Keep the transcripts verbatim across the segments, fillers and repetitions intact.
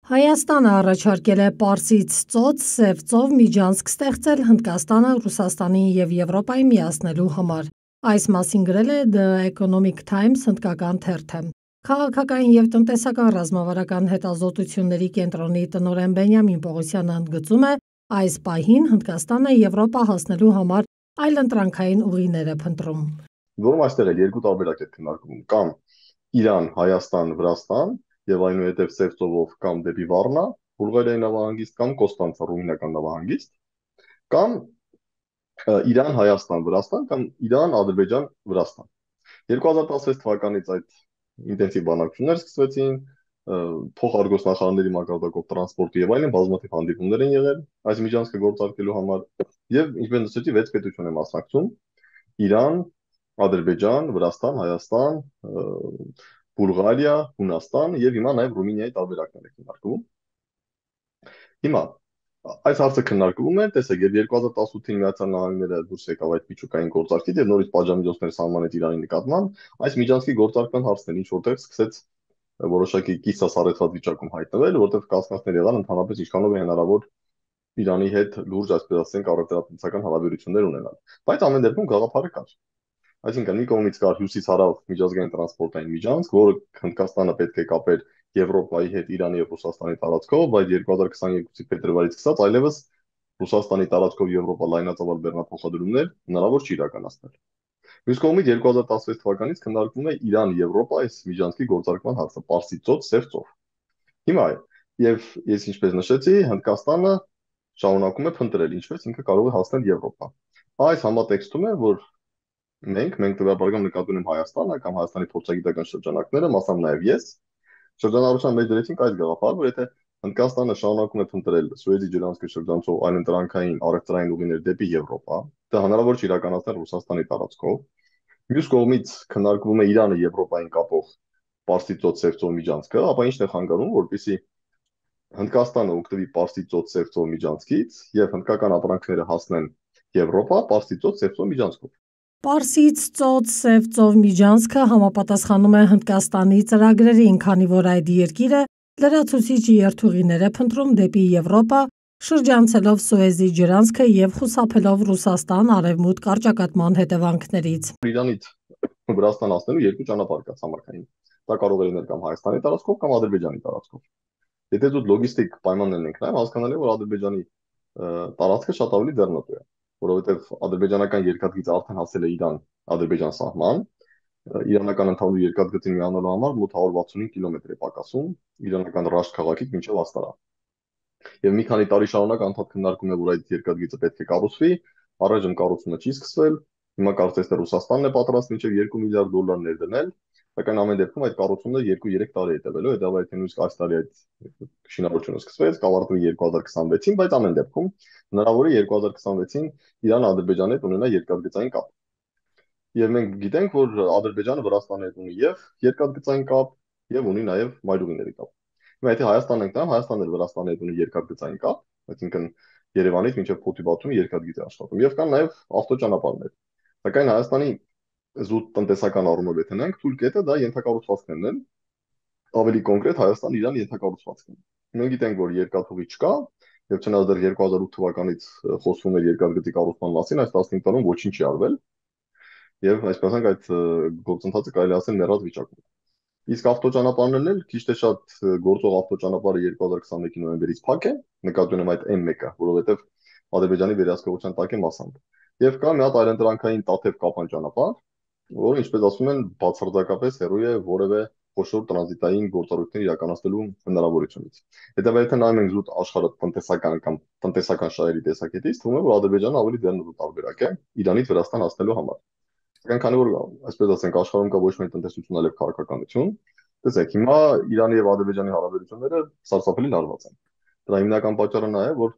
Հայաստանը առաջարկել է Պարսից ծոց Սև ծով միջանցք ստեղծել Հնդկաստանը Ռուսաստանին և Եվրոպային միացնելու համար։ Այս մասին գրել է The Economic Times հնդկական թերթը։ Քաղաքական և տնտեսական ռազմավարական հետազոտությունների կենտրոնի տնօրեն Բենյամին Պողոսյանը ընդգծում է, այս պահին Հնդկաստանը Եվրոպա հասնելու համար այլընտրանքային ուղիներ է փնտրում։ Որում այստեղ էլ երկու տարբերակ է քննարկվում, կամ Իրան, Հայաստան, Վրաստան եւ այնուհետեւ Սև ծովով կամ դեպի Վառնա, Բուլղարիայի նավահանգիստ կամ Կոստանցա ռումինական նավահանգիստ, կամ Իրան, Հայաստան, Վրաստան կամ Իրան, Ադրբեջան, Վրաստան։ երկու հազար տասնվեց թվականից այդ ինտենսիվ բանակցություններ սկսվեցին, փոխարգոսնախարարների մակարդակով տրանսպորտի եւ այլն բազմաթիվ հանդիպումներ են եղել այս միջանցքը գործարկելու համար եւ ինչպես նշեցի վեց պետություն է մասնակցում՝ Իրան, Ադրբեջան, Վրաստան, Հայաստան, Բուլղարիա, Հունաստան եւ հիմա նաեւ Ռումինիայի տարբերակներ է քննարկվում։ Հիմա այս հարցը քննարկվում է, տեսեք, եւ երկու հազար տասնութին Միացյալ Նահանգները դուրս եկավ այդ միջուկային գործարքից եւ նորից պատժամիջոցներ սահմանեց Իրանի նկատմամբ, այս միջանցքի գործարկման հարցն ինչ որտեղ սկսեց որոշակի կիսասառեցված վիճակում հայտնվել, որտեղ կասկածներ եղան ընդհանրապես ինչքանով է հնարավոր Իրանի հետ լուրջ, այսպես ասենք, առևտրատնտեսական հարաբերություններ ունենալ։ Բայց ամեն դեպքում գաղափարը կար։ Այսինքն մի կողմից կար հյուսիս-հարավ միջազգային տրանսպորտային միջանցք, որը Հնդկաստանը պետք է կապեր Եվրոպայի հետ Իրանի եւ Ռուսաստանի տարածքով, բայց երկու հազար քսաներկուի փետրվարից սկսած այլևս Ռուսաստանի տարածքով Եվրոպա լայնածավալ բեռնափոխադրումներ հնարավոր չի իրականացնել։ Մյուս կողմից երկու հազար տասնվեց թվականից քննարկվում է Իրան-Եվրոպա այս միջանցքի գործարկման հարցը, Պարսից ծոց, Սև ծով։ Հիմա եւ ես ինչպես նշեցի, Հնդկաստանը շարունակում է փնտրել ինչպես ինքը կարող է հասնել Եվրոպա։ Այս համատեքստում է, որ մենք մենք տվյալաբարական նկատի ունեմ Հայաստանը կամ Հայաստանի փորձագիտական շրջանակները, մասամբ նաև ես, շրջանառության մեջ դրեցինք այս գաղափարը, որ եթե Հնդկաստանը շարունակում է փնտրել Սուեզի ջրանցքի շրջանցով այլընտրանքային առևտրային ուղիներ դեպի Եվրոպա, դա հնարավոր չի իրականացնել Ռուսաստանի տարածքով։ Մյուս կողմից քննարկվում է Իրանը Եվրոպային կապող Պարսից ծոց Սև ծով միջանցքը, ապա ի՞նչն է խանգարում, որպեսզի Հնդկաստանը օգտվի Պարսից ծոց Սև ծով միջանցքից եւ հնդկական ապրանքները հասնեն Եվրոպա Պարսից ծոց Սև ծով միջանցքով։ Պարսից ծոց Սև ծով միջանցքը համապատասխանում է Հնդկաստանի ծրագրերին, քանի որ այդ երկիրը լրացուցիչ երթուղիներ է փնտրում դեպի Եվրոպա, շրջանցելով Սուեզի ջրանցքը եւ խուսափելով Ռուսաստան արևմուտք առճակատման հետևանքներից։ Իրանից Վրաստան հասնելու երկու ճանապարհ կա ցամաքային։ Դա կարող է լինել կամ Հայաստանի տարածքով կամ Ադրբեջանի տարածքով։ Եթե դու լոգիստիկ պայմաններն ենք նայում, հասկանալի է, որ Ադրբեջանի տարածքը շատ ավելի ձեռնտու է, որովհետև ադրբեջանական երկաթգիծը արդեն հասել է Իրան-Ադրբեջան սահման, իրանական ընդհանուր երկաթգծին միանալու համար մոտ հարյուր վաթսունհինգ կիլոմետր է պակասում իրանական Ռաշտ քաղաքից մինչև Աստարա։ Եվ մի քանի տարի շարունակ անդադ քննարկում է, որ այդ երկաթգիծը պետք է կառուցվի, առայժմ կառուցումը չի սկսվել, հիմա կարծես թե Ռուսաստանն է պատրաստ մինչև երկու միլիարդ դոլար ներդնել, սակայն ամեն դեպքում այդ կառուցումները երկու-երեք տարի է տևելու, հետո եթե նույնիսկ այս տարի այդ շինարարությունը սկսվեց, կավարտվի երկու հազար քսանվեցին, բայց ամեն դեպքում հնարավոր է երկու հազար քսանվեցին Իրանը Ադրբեջանի հետ ունենա երկաթգծային կապ։ Եվ մենք գիտենք, որ Ադրբեջանը Վրաստանի հետ ունի եւ երկաթգծային կապ եւ ունի նաեւ մայրուղիների կապ։ Հիմա եթե Հայաստանն ենք նայում, Հայաստանն էլ Վրաստանի հետ ունի երկաթգծային կապ, այսինքն Երևանից մինչև Փոթի բացումը երկաթգիծ է աշխատում եւ կան նաեւ ավտոճանապարհներ։ Սակայն Հայաստանի զուտ տնտեսական առումով եթե նայենք, թույլ կետը դա ենթակառուցվածքներն են, ավելի կոնկրետ Հայաստան-Իրան ենթակառուցվածքն։ Մենք գիտենք, որ երկաթուղի չկա եւ չնայած դեռ երկու հազար ութ թվականից խոսվում էր երկաթգծի կառուցման մասին, այս տասնհինգ տարում ոչինչ չի արվել եւ այսպես ասենք այդ գործընթացը կարելի ասել մեռած վիճակում։ Իսկ ավտոճանապարհներն էլ քիչ թե շատ գործող ավտոճանապարհը երկու հազար քսանմեկի նոյեմբերից փակ է, նկատի ունեմ այդ էմ մեկը, որովհետեւ Ադրբեջանի վերահսկողության տակ է մասամբ։ Եվ կա մի հատ այլընտրանքային Տաթև Կապան ճանապարհ, որը ինչպես ասում են, բացարձակապես հեռու է որևէ խոշոր տրանզիտային գործառույթներ իրականացնելու հնարավորությունից։ Հետևաբար նայում ենք զուտ աշխարհը տնտեսական կամ տնտեսական շահերի տեսակետից, թվում է, որ Ադրբեջանը ավելի ձեռնտու տարբերակ է Իրանից Վրաստան հասնելու համար։ Սակայն քանի որ այսպես ասենք աշխարհում կա ոչ միայն տնտեսություն, այլև քաղաքականություն, տեսեք, հիմա Իրանի եւ Ադրբեջանի հարաբերությունները սարսափելի լարված են։ Դրա հիմնական պատճառը նա է, որ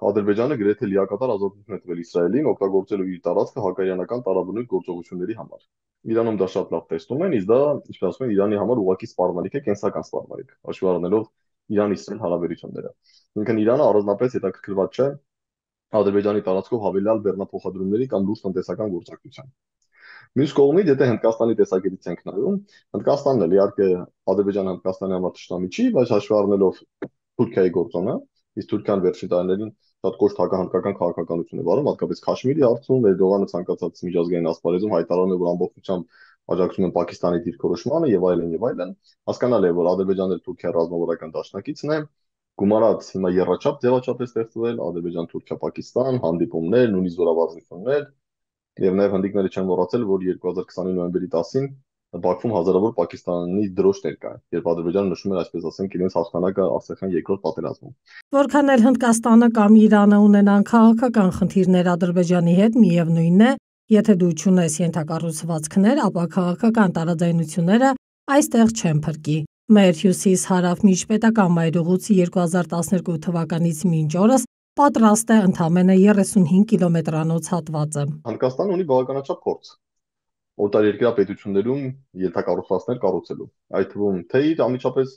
Ադրբեջանը գրեթե լիակատար ազատություն է տվել Իսրայելին օգտագործելու իր տարածքը հակաիրանական տարաբնույթ գործողությունների համար։ Իրանում դա շատ լավ տեսնում են, իսկ դա, ինչպես ասում են, Իրանի համար ուղղակի սպառնալիք է, կենսական սպառնալիք, հաշվի առնելով Իրան-Իսրայել հարաբերությունները։ Ինքն Իրանը առանձնապես հետաքրքրված չէ Ադրբեջանի տարածքով հավելյալ բեռնափոխադրումների կամ լուրջ տնտեսական գործընկերության։ Մյուս կողմից, եթե Հնդկաստանի տեսակետից ենք նայում, Հնդկաստանն էլ իհարկե Ադրբեջանը Հնդկաստանի համար ճշտամի չի, բայց հաշվի առնելով Թուրքիայի գործոնը, իսկ Թուրքիան վերջին տարիներին շատ կոշտ հնդկական քաղաքականություն է վարում, հատկապես Քաշմիրի հարցում, Էրդողանը ցանկացած միջազգային ասպարեզում հայտարարում է, որ ամբողջությամբ աջակցում են Պակիստանի դիրքորոշմանը եւ այլն եւ այլն, հասկանալի է, որ Ադրբեջանն էլ Թուրքիայի ռազմավարական դաշնակիցն է, գումարած հիմա երրաչափ ձևաչափ է ստեղծվել Ադրբեջան, Թուրքիա, Պակիստան, հանդիպումներ, նույնիսկ զորավարժություններ, եւ նաեւ հնդիկները չեն մոռացել, որ երկու հազար քսանի նոյեմբերի տասին Բաքվում հազարավոր Պակիստանի դրոշներ կային, երբ Ադրբեջանը նշում էր, այսպես ասենք, իրենց հաղթանակը Արցախյան երկրորդ պատերազմում։ Որքան էլ Հնդկաստանը կամ Իրանը ունենան քաղաքական խնդիրներ Ադրբեջանի հետ, միևնույնն է, եթե դու չունես ենթակառուցվածքներ, ապա քաղաքական տարաձայնությունները այստեղ չեն փրկի։ Մեր հյուսիս-հարավ միջպետական մայրուղուց երկու հազար տասներկու թվականից մինչ օրս պատրաստ է ընդամենը երեսունհինգ կիլոմետրանոց հատվածը։ Հնդկաստանը ունի բավականաչափ փորձ օտարերկրյա պետություններում ենթակառուցվածքներ կառուցելու, այդ թվում թե իր անմիջապես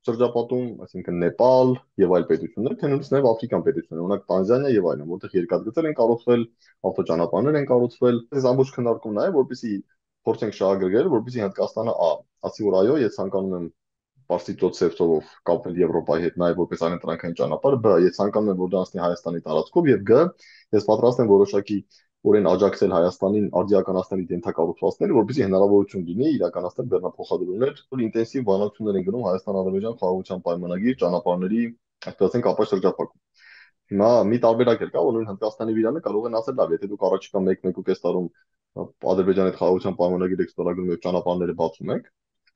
շրջապատում, այսինքն Նեպալ եւ այլ պետություններ, թե նույնիսկ նաեւ Աֆրիկան պետություններ, օրինակ Տանզանիա եւ այլն, որտեղ երկաթգծեր են կառուցվել, ավտոճանապարհներ են կառուցվել։ Այս ամբողջ քննարկումն է, որպեսզի փորձենք շահագրգռել, որպեսզի Հնդկաստանը ա, ասի որ այո, ես ցանկանում եմ Պարսից ծոց ծովով կապվել Եվրոպայի հետ, նաև որպես այլընտրանքային ճանապարհ, բ. Ես ցանկանում եմ, որ դա անցնի Հայաստանի տարածքով եւ գ. Ես պատրաստ եմ որոշակի օրեն աջակցել Հայաստանին արդիականացնել ենթակառուցվածքները, որպեսզի հնարավորություն լինի իրականացնել բեռնափոխադրումներ, որ ինտենսիվ բանակցություններ են գնում Հայաստան-Ադրբեջան խաղաղության պայմանագիր ճանապարհների, այսպես ասենք, ապա շրջափակում։ Հիմա մի տարբերակ էլ կա, որ նույն Հնդկաստանի վիրանը կարող են ասել, լավ, եթե դուք առաջիկա մեկ-մեկ ու կես տարում Ադրբեջանի հետ խաղաղության պայմանագիր եք ստորագրում եւ ճանապարհները բացում եք,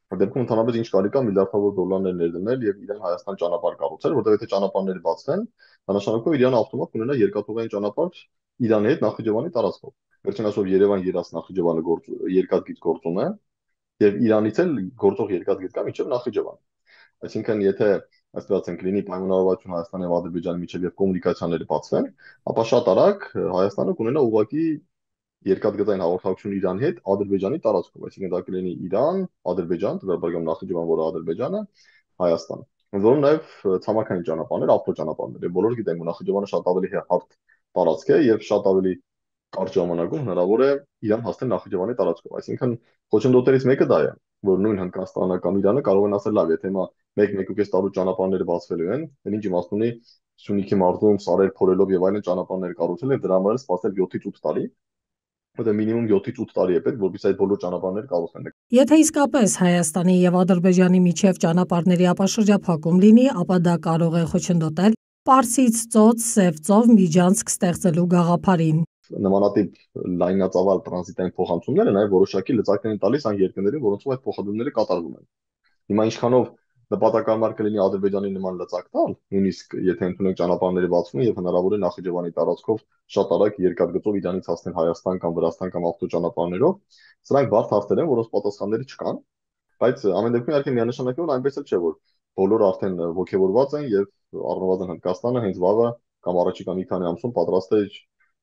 դեպքում ընդհանրապես ինչ կարելի կա միլիարդավոր դոլարներ ներդնել եւ իրեն Հայաստան ճանապարհ կառուցել, որտեղ եթե ճանապարհները բացվեն, դա նշանակում է Իրանը ավտոմատ կունենա երկաթուղային ճանապարհ Իրանի հետ Նախիջևանի տարածքով։ Վերջին ասով Երևան-Երաս Նախիջևանը գործ երկաթգիծ գործում է եւ Իրանից էլ գործող երկաթգիծ կա մինչեւ Նախիջևան։ Այսինքն, եթե այսպես ասենք լինի պայմանավորվածություն Հայաստանի եւ Ադրբեջանի միջեւ եւ կոմունիկացիաները բացվեն, ապա շատ արագ Հայաստանը կունենա ուղղակի երկաթգծային հաղորդակցություն Իրանի հետ Ադրբեջանի տարածքով, այսինքն դա կլինի Իրան, Ադրբեջան, դեպքում Նախիջևան, որը Ադրբեջանը, Հայաստան։ Որոնք նաև ցամաքային ճանապարհներ, ավտոճանապարհներ, եւ բոլորը գիտենք, որ Նախիջևանը շատ ավելի հարթ տարածք է եւ շատ ավելի կարճ ժամանակում հնարավոր է Իրան հասնել Նախիջևանի տարածքով։ Այսինքն խոչընդոտներից մեկը դա է, որ նույն Հնդկաստանը կամ Իրանը կարող են ասել, լավ, եթե հիմա մեկ-մեկ ու կես տարու ճանապարհները բացվելու են, then ինչ իմաստ ունի Սյունիքի մարզում սարեր փորելով եւ այլն ճանապարհներ կառուցել եւ դրա համար սպասել յոթից ութ տարի, որտեղ մինիմում յոթից ութ տարի է պետք, որպեսզի այդ բոլոր ճանապարհները կառուցվեն։ Եթե իսկապես Հայաստանի եւ Ադրբեջանի միջև ճանապարհների ապաշրջափակում լինի, ապա դա կարող է խոչընդոտել Պարսից ծոց Սև ծով միջանցք ստեղծելու գաղափարին։ Նմանատիպ լայնածավալ տրանզիտային փոխանցումները նաև որոշակի լծակներ են տալիս այն երկրներին, որոնցով այդ փոխադրումները կատարվում են։ Հիմա ինչքանով նպատակարար կլինի Ադրբեջանի նման լծակ տալ, նույնիսկ եթե ընդունենք ճանապարհները բացվում եւ հնարավոր է Նախիջևանի տարածքով շատ արագ երկաթգծով Իրանից հասնել Հայաստան կամ Վրաստան կամ ավտոճանապարհներով, սրանք բարդ հարցեր են, որոնց պատասխանները չկան, բայց ամեն դեպքում իհարկե միանշանակ է, որ այնպես էլ չէ, որ բոլորը արդեն ողջևորված են եւ առնվազն Հնդկաստանը հենց վաղը կամ առաջիկա մի քանի ամսում պատրաստ է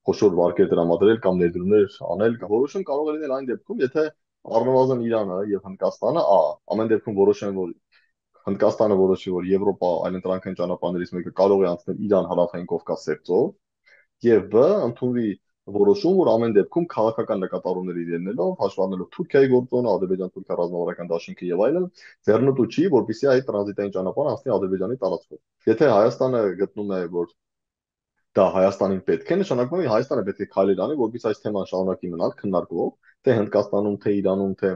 խոշոր վարկեր տրամադրել կամ ներդրումներ անել, որոշում կարող է լինել այն դեպքում, եթե առնվազն Իրանը եւ Հնդկաստանը, ա, ամեն դեպքում որոշեն, որ Հնդկաստանը որոշի, որ Եվրոպա այլընտրանքային ճանապարհներից մեկը կարող է անցնել Իրան հարավային Կովկաս ծով, եւ բ ընդունվի որոշում, որ ամեն դեպքում քաղաքական նկատառումների ելնելով, հաշվառնելով Թուրքիայի գործոնը, Ադրբեջան-Թուրքիա ռազմավարական դաշինքը եւ այլն, ձեռնտու չի, որպեսզի այդ տրանզիտային ճանապարհը անցնի Ադրբեջանի տարածքով։ Եթե Հայաստանը գտնում է, որ դա Հայաստանին պետք է, նշանակում է Հայաստանը պետք է քայլեր անի, որպեսզի այս թեման շարունակի մնալ քննարկվող, թե Հնդկաստանում, թե Իրանում, թե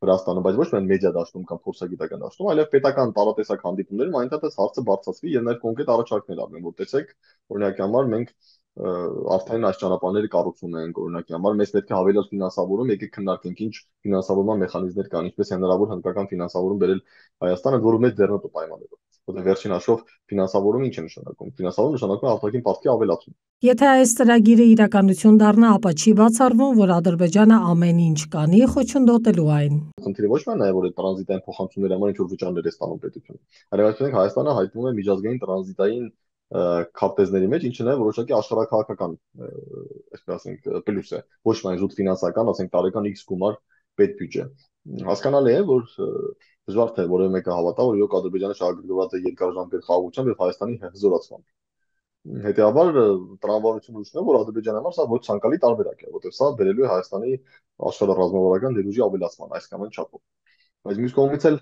Վրաստանում, բայց ոչ միայն մեդիա դաշտում կամ փորձագիտական դաշտում, այլև պետական տարատեսակ հանդիպումներում այնտեղից հարցը բարձրացվի եւ նաև կոնկրետ առաջարկներ արվեն, որ տեսեք, օրինակի համար մենք արդեն այս ճանապարհները կառուցում ենք, օրինակի համար մեզ պետք է հավելյալ ֆինանսավորում, եկեք քննարկենք ինչ ֆինանսավորման մեխանիզմներ կան, ինչպես է հնարավոր հնդկական ֆինանսավորում բերել Հայաստանը, որը մեծ ձեռնտու պայմաններով։ Որտեղ վերջին հաշվով ֆինանսավորումը ինչ է նշանակում։ Ֆինանսավորումը նշանակում է արտաքին պարտքի ավելացում։ Եթե այս ծրագիրը իրականություն դառնա, ապա չի բացառվում, որ Ադրբեջանը ամեն ինչ կանի խոչընդոտելու այն։ Խնդիրը ոչ միայն նաև որ այդ տրանզիտային փոխանցումների համար ինչ որ վճարներ է ստանում պետությունը, այլև այսինքն Հայաստանը հայտնվում է միջազգային տրանզիտային քարտեզների մեջ, ինչը նաև որոշակի աշխարհակաղակական, այսպես ասենք, պլյուս է, ոչ միայն զուտ ֆինանսական, ասենք տարեկան X գումար պետբյուջե։ Հասկանալի է, որ դժվար թե որևէ մեկը հավատա, որ իրոք Ադրբեջանը շահագրգռված է երկարաժամկետ խաղաղությամբ եւ Հայաստանի հզորացմամբ։ Հետևաբար տրամաբանությունը ուշն է, որ Ադրբեջանի համար սա ոչ ցանկալի տարբերակ է, որտեղ սա բերելու է Հայաստանի աշխարհառազմավարական ներուժի ավելացման այսքան չափով։ Բայց մյուս կողմից էլ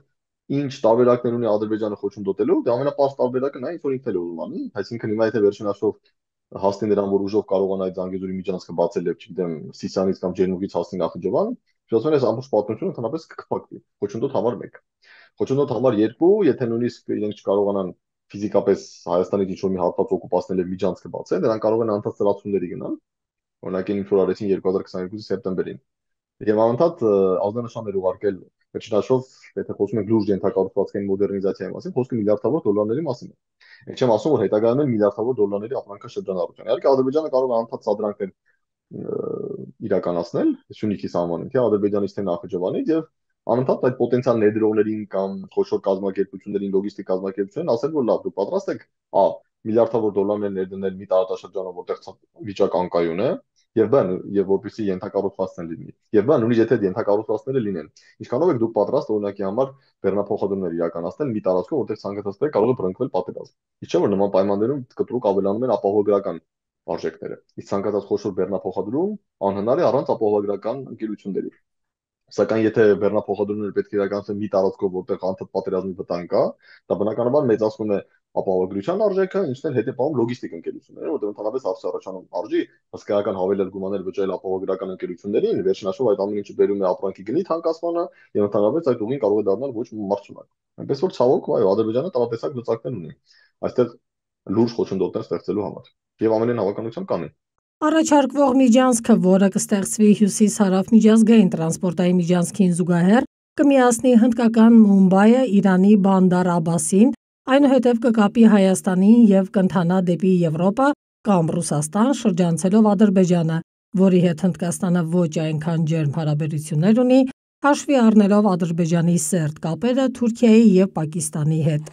ինչ տարբերակներ ունի Ադրբեջանը խոչընդոտելու, դա ամենապարզ տարբերակը նա ինչ որ ինքն էլ ուզում անի, այսինքն հիմա եթե վերջին հաշվով հասնի նրան, որ ուժով կարողանա այդ Զանգեզուրի միջանցքը բացել եւ չգիտեմ Սիսիանից կամ Ջերնուկից հասնի Նախիջևան, շուտով այս ամբողջ պատմությունը ընդհանրապես կքփակվի։ Խոչընդոտ համար մեկ։ Խոչընդոտ համար երկու, եթե նույնիսկ իրենք չկարողանան ֆիզիկապես Հայաստանից ինչ որ մի հատված օկուպացնել եւ միջանցքը բացել, նրանք կարող են անընդհատ ծրացումների գնալ։ Օրինակ ինչ որ արեցին երկու հազար քսաներկուի սեպտեմբերին։ Եվ անընդհատ ազդանշաններ ուղարկել վերջնաշով, եթե խոսում ենք լուրջ ենթակառուցվածքային մոդեռնիզացիայի մասին, խոսքը միլիարդավոր դոլարների մասին է։ Այդ չեմ ասում, որ հետագայում են միլիարդավոր դոլարների ապրանքաշրջանառություն։ Իհարկե Ադրբեջանը կարող է անընդհատ սադրանքներ իրականացնել Սյունիքի սահմանին, թե Ադրբեջանից թե Նախիջևանից եւ անընդհատ այդ պոտենցիալ ներդրողներին կամ խոշոր կազմակերպություններին, լոգիստիկ կազմակերպություններին ասել, որ լավ, դուք պատրաստ եք ա միլիարդավոր դոլարներ ներդնել մի տարածաշրջանում, որտեղ վիճակ անկայուն է, եւ բան, եւ որպեսզի ենթակառուցվածքներ լինի։ Եվ բան, նույնիսկ եթե ենթակառուցվածքները լինեն, ինչքանով եք դուք պատրաստ օրինակի համար բեռնափոխադրումներ իրականացնել մի տարածքում, որտեղ ցանկացածները կարող է բռնկվել պատերազմ։ Իսկ չէ՞ որ նման պայմաններում կտրուկ ավելանում են ապահովագրական արժեքները։ Իսկ ցանկացած խոշոր բեռնափոխադրում անհնար է առանց ապահովագրական ընկերությունների։ Սակայն եթե բեռնափոխադրումները պետք է իրականացվեն մի տարածքով, որտեղ անընդհատ պատերազմի վտանգ կա, դա բնականաբար մեծացնում է ապահովագրության արժեքը, ինչն էլ հետևաբար լոգիստիկ ընկերությունները, որտեղ ընդհանրապես հարց առաջանում արժի հսկայական հավելյալ գումարներ վճարել ապահովագրական ընկերություններին, վերջնաշով այդ ամեն ինչը բերում է ապրանքի գնի թանկացմանը եւ ընդհանրապես այդ ուղին կարող է դառնալ ոչ մարտունակ։ Այնպես որ ցավոք, այո, Ադրբեջանը տարատեսակ լծակներ ունի այստեղ լուրջ խոչընդոտներ ստեղծելու համար եւ ամենայն հավանականությամբ կանեն։ Առաջարկվող միջանցքը, որը կստեղծվի հյուսիս-հարավ միջազգային տրանսպորտային միջանցքին զուգահեռ, կմիացնի հնդկական Մումբայը Իրանի Բանդար Աբասին, այնուհետև կկապի Հայաստանին եւ կընթանա դեպի Եվրոպա կամ Ռուսաստան, շրջանցելով Ադրբեջանը, որի հետ Հնդկաստանը ոչ այնքան ջերմ հարաբերություններ ունի, հաշվի առնելով Ադրբեջանի սերտ կապերը Թուրքիայի եւ Պակիստանի հետ։